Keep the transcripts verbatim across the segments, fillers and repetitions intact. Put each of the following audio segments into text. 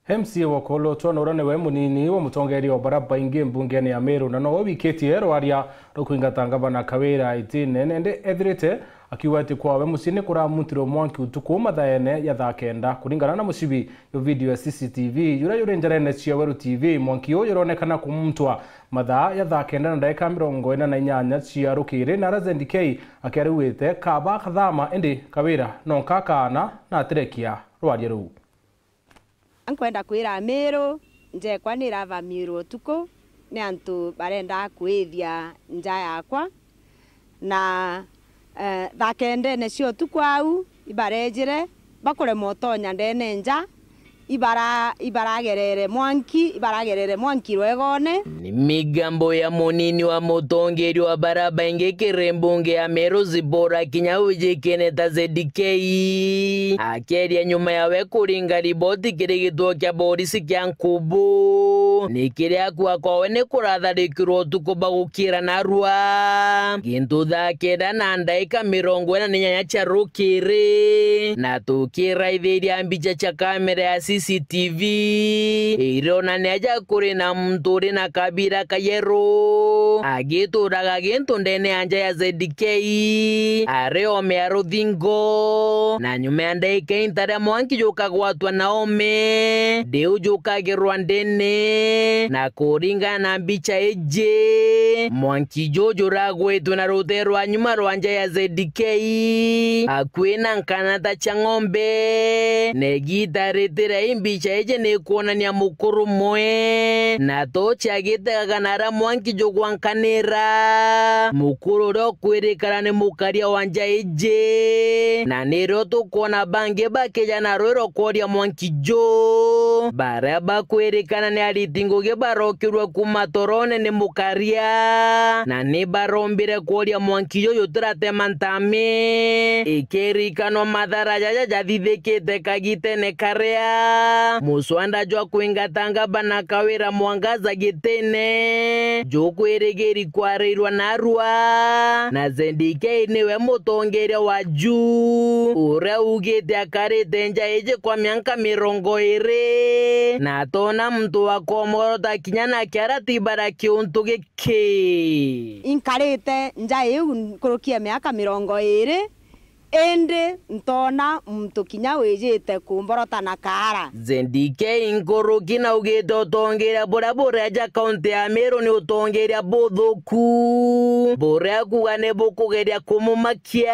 M C A wa Kolotwa Norah niwe munini wa mutongeria wa bara baingi mbungene ya Meru, na nowe wikitie rwaria rwa kuingata ngavana Kawira itine, nende ethirite akiuga ati kwawe mucii ni kuramuntirwe mwanki utuku mathaene ya thaa kenda. Kuringana na mucibi yo video ya C C T V yuria yuri njarene cia Weru T V, mwanki uyu uronekana kumuntwa mathaa ya thaa kenda na ndagika mirongo ina na inyanya cia rukiri, na aria Z D K akiarauite kaba kathama, indi Kawira nonka akaana na atirekia rwaria ruu. Nkwenda kwira Amiru, nja ekwa ni iravamiirwe utuku ni antu barenda kwithia nja yakwa, na, eh, thaa kendene cia utuku au, ibarejire, bakurema utonya ndene nja, ibara-, ibaragerere mwanki, ibaragerere mwanki rwegone. Ni migambo ya munini wa mutongeria wa bara baingi kiri mbunge ya Meru, Zipporah Kinyau, wijikene ta Z D K, akeria nyuma yawe kuringa riboti kiri gituo kia borisi kia Nkubu. Ni kiria akua kwawe ni kuratharikirwa utuku bagukira narua gintu thaa kenda na ndaika mirongo ina na inyanya cia rukiri, na tukiraithiria mbicha cia kamera ya C C T V ironania ja kuri na muntu uri na kabira kayeru agituraga gintu ndene ya nja ya Z D K, ari ome ya ruthingo, na nyuma ya ndaika intaria mwanki jukagwatwa na ome, ndiu jukagirwa ndene, na kuringana na mbicha iji, mwanki juju juragwitwe na rute rwa nyuma rwa nja ya Z D K, akui na nkanata cia ng'ombe, na igita ritire imbicha iji ni kwonania mukuru mwe, na tochi agitegaga na aria mwanki jugwankanira. Mukuru uria ukwirikana ni mukaria wa nja iji, na nirio tukwona bangi bakija na rwiro kworia mwanki ju. Baria bakwirikana ni ariti ngugi barokirwe kuma torone ni mukaria, na ni barombire kworia mwanki juju tiratema ntami. Ikirikanwa mathara jaja jathithikite kagitene karia muswanda jwa kwingata ngavana Kawira Mwangaza gitine jukwirigiri kwarairwa narua, na Z D K niwe mutongeria wa ju uria ugite akarite nja iji kwa mianka mirongo iri, na atona muntu wa komorota kinya na kiara tibara kiuntu giki. Inkarite nja iu nkuruki ya miaka mirongo iri, indi ntoona muntu kinya wijite kumborota na kaara. Z D K nkuruki naugite utongeria buria bureja kaunti ya Meru ni utongeria buthuku, buria kuuga ni bukugeria kumumakia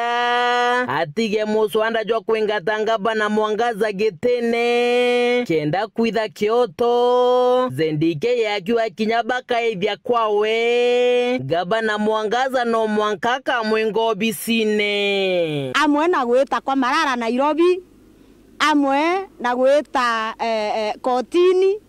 atige muswanda jwa kwingata ngavana Mwangaza gitine kenda kwitha kioto. Z D K akiuga kinya bakaithia kwawe, ngavana Mwangaza no mwanka akamwinga obisine. Amwe na gwita kwa Marara Nairobi, amwe na gwita, eh, eh, kotini,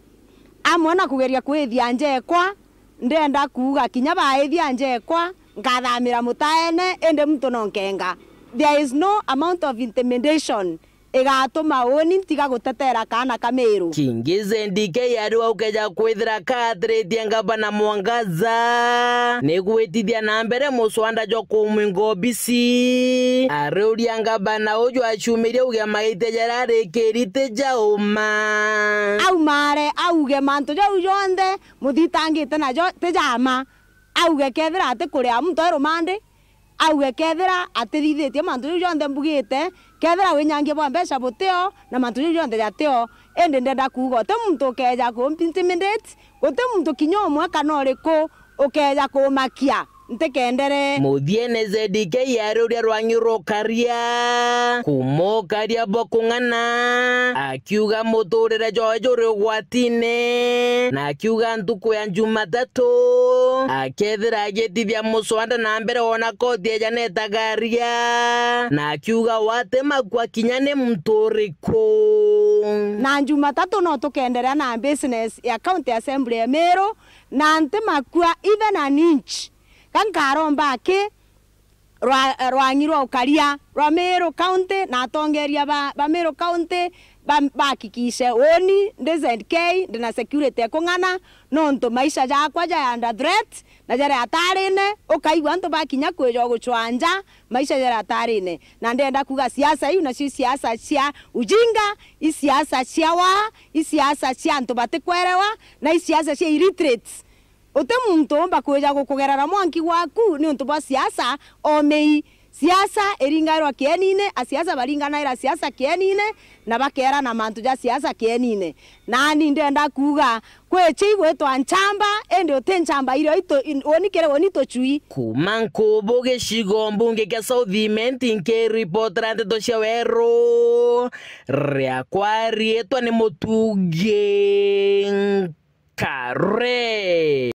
amwe na kugeria kwithia njekwa, ndenda kuuga kinya baithia njekwa, nkathamira mutaene, indi muntu no nkenga. There is no amount of intimidation igatuma uni ntiga gutetera kaana ka Meru. Kingi Z D K ari wa ukeja kwithira kaatiritie ngavana Mwangaza ni gwitithia na mbere muswanda jwa kumwinga obisi. Ariuria ngavana uju aciumirie uge maitia jaria arikiri ti ja uma. Aumare auge mantu jau jonthe muthitangite najo ti ja ma. Auge kethira atikuria muntu e rumandi, auge kethira atithithitie mantu jau jonthe mbugite, kethira winyangia bwa mbeca butio na mantu jau jonthe jatio, indi ndenda kuuga uti muntu ukeja ku intimidate, uti muntu kinya umwe kana uriku ukeja kumakia, ntikendere. Muthiene Z D K ari uria rwang'i rukaria, kuma ukaria bwa kung'ana, akiuga muturire jwawe juri ugwatine, na akiuga ntuku ya Jumatatu akethira agitithia muswanda na mbere wona koti eja netagaria, na akiuga watimakua kinya ni muntu uriku. Na Jumatatu no tukenderea na business ya County Assembly ya Meru, na ntimakua even an inch. Ka nkaromba aki rwa, rwang'i rwa ukaria rwa Meru County na atongeria ba, ba Meru County, ba-, bahakikishe uni ndi Z K, ndi na security ekung'ana, nontu maisha jakwa jai under threat na jari atarine. Ukaigua antu bakinya kwija gucwanja, maisha jari atarine. Na ndenda kuga siasa iu nacio i siasa cia ujinga, i siasa cia waa, i siasa cia antu batikwerewa, na i siasa cia illiterates. Uti muntu umba kwija gukugerera mwanki gwaku niuntu bwa siasa omei. Siasa iringairwa kienine, asiasa baringanaira siasa kienine, na bakerana mantu ja siasa kienine. Nani ndenda kuuga, kwi chi igwitwa nchamba, indi uti nchamba irio itu, in-, uni kiri uni tucui. Kuuma Nkubu gicigo mbunge kia South Imenti, nkiripotera nteto cia weru, riakwa riitwa ni Mutugi Nkare.